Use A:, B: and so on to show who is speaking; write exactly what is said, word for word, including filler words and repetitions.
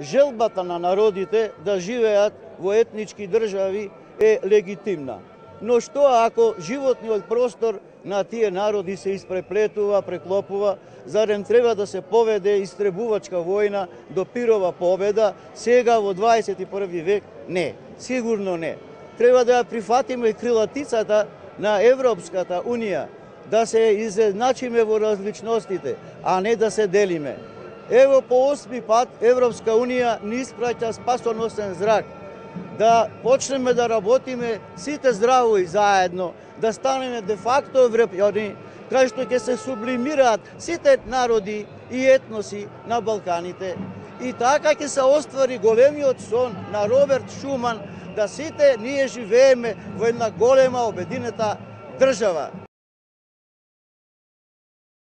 A: желбата на народите да живеат во етнички држави е легитимна. Но што ако животниот простор на тие народи се испреплетува, преклопува, зарем треба да се поведе истребувачка војна до пирова победа сега во дваесет и први век? Не, сигурно не. Треба да ја прифатиме крилатицата на Европската Унија, да се изедначиме во различностите, а не да се делиме. Ево по осми пат Европска Унија ни испраќа спасоносен зрак, да почнеме да работиме сите здраво и заедно, да станеме де факто европјани, кај што ќе се сублимираат сите народи и етноси на Балканите. И така ќе се оствари големиот сон на Роберт Шуман, да сите ние живееме во една голема обединета држава.